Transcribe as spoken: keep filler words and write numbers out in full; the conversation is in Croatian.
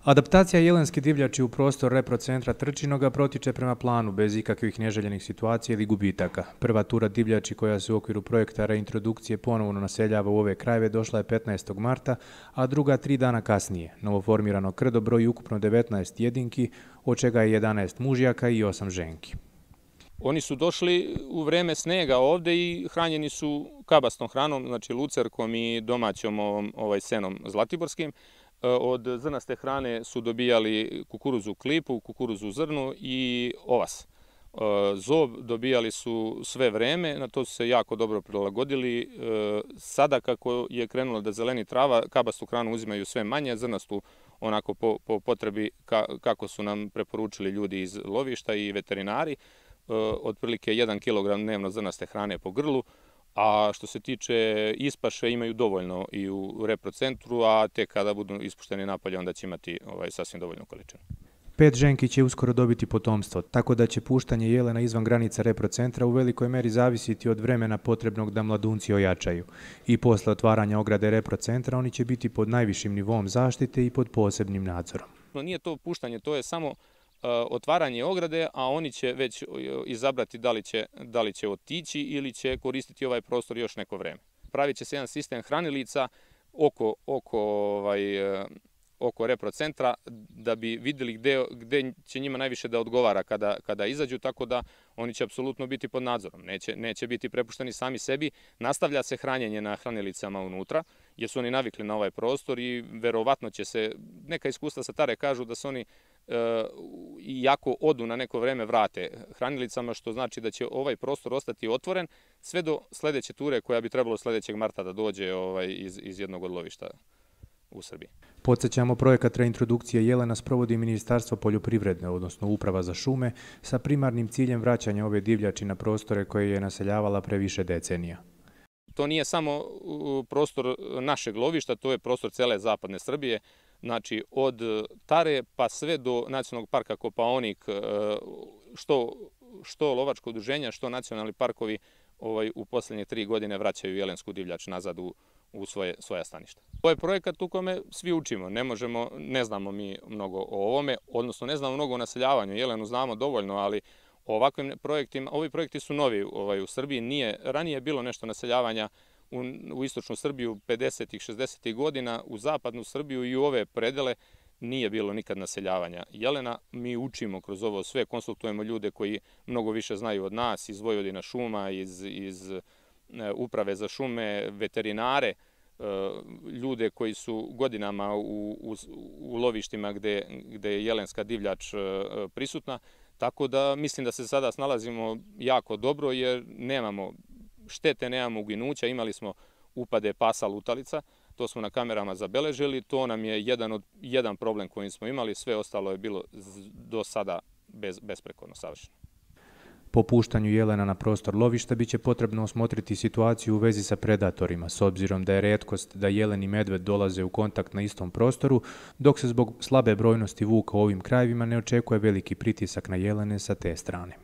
Adaptacija jelenske divljači u prostor reprocentra Trčinoga protiče prema planu bez ikakvih neželjenih situacija ili gubitaka. Prva tura divljači koja se u okviru projekta reintrodukcije ponovno naseljava u ove krajeve došla je petnaestog marta, a druga tri dana kasnije. Novoformirano krdo broji ukupno devetnaest jedinki, od čega je jedanaest mužjaka i osam ženki. Oni su došli u vreme snega ovde i hranjeni su kabastnom hranom, znači lucerkom i domaćom ovaj, senom zlatiborskim. Od zrnaste hrane su dobijali kukuruzu klipu, kukuruzu zrnu i ovas. Zob dobijali su sve vreme, na to su se jako dobro prilagodili. Sada kako je krenulo da zeleni trava, kabastu hranu uzimaju sve manje, zrnastu onako po, po potrebi kako su nam preporučili ljudi iz lovišta i veterinari, otprilike jedan kilogram dnevno zrnaste hrane po grlu. A što se tiče ispaše, imaju dovoljno i u reprocentru, a tek kada budu ispušteni napolje, onda će imati ovaj, sasvim dovoljnu količinu. Pet ženki će uskoro dobiti potomstvo, tako da će puštanje jelena izvan granica reprocentra u velikoj meri zavisiti od vremena potrebnog da mladunci ojačaju. I posle otvaranja ograde reprocentra oni će biti pod najvišim nivom zaštite i pod posebnim nadzorom. Nije to puštanje, to je samo otvaranje ograde, a oni će već izabrati da li će, da li će otići ili će koristiti ovaj prostor još neko vreme. Pravit će se jedan sistem hranilica oko, oko, ovaj, oko reprocentra da bi vidjeli gde, gde će njima najviše da odgovara kada, kada izađu, tako da oni će apsolutno biti pod nadzorom. Neće, neće biti prepušteni sami sebi. Nastavlja se hranjenje na hranilica unutra, jer su oni navikli na ovaj prostor i verovatno će se, neka iskustva sa Tare kažu da se oni iako odu na neko vreme vrate hranilicama, što znači da će ovaj prostor ostati otvoren sve do sledeće ture koja bi trebalo sledećeg marta da dođe ovaj, iz, iz jednog od lovišta u Srbiji. Podsjećamo, projekat reintrodukcije jelena sprovodi Ministarstvo poljoprivrede, odnosno Uprava za šume, sa primarnim ciljem vraćanja ove divljači na prostore koje je naseljavala pre više decenija. To nije samo prostor našeg lovišta, to je prostor cele zapadne Srbije. Znači, od Tare pa sve do Nacionalnog parka Kopaonik, što, što lovačko udruženja, što nacionalni parkovi ovaj, u poslednje tri godine vraćaju jelensku divljač nazad u, u svoje, svoja staništa. Ovo je projekat u kome svi učimo, ne možemo, ne znamo mi mnogo o ovome, odnosno ne znamo mnogo o naseljavanju, jelenu znamo dovoljno, ali ovakvim projektima, ovi projekti su novi ovaj, u Srbiji, nije, ranije je bilo nešto naseljavanja U, u istočnu Srbiju pedesetih, šezdesetih godina, u zapadnu Srbiju i u ove predele nije bilo nikad naseljavanja jelena. Mi učimo kroz ovo sve, konsultujemo ljude koji mnogo više znaju od nas, iz Vojvodina šuma, iz, iz Uprave za šume, veterinare, ljude koji su godinama u, u, u lovištima gde, gde je jelenska divljač prisutna. Tako da mislim da se sada snalazimo jako dobro jer nemamo štete, nemamo uginuća, imali smo upade pasa lutalica, to smo na kamerama zabeležili, to nam je jedan, od, jedan problem koji smo imali, sve ostalo je bilo do sada bez, besprekorno savršeno. Po puštanju jelena na prostor lovišta biće potrebno osmotriti situaciju u vezi sa predatorima, s obzirom da je retkost da jelen i medved dolaze u kontakt na istom prostoru, dok se zbog slabe brojnosti vuka u ovim krajevima ne očekuje veliki pritisak na jelene sa te strane.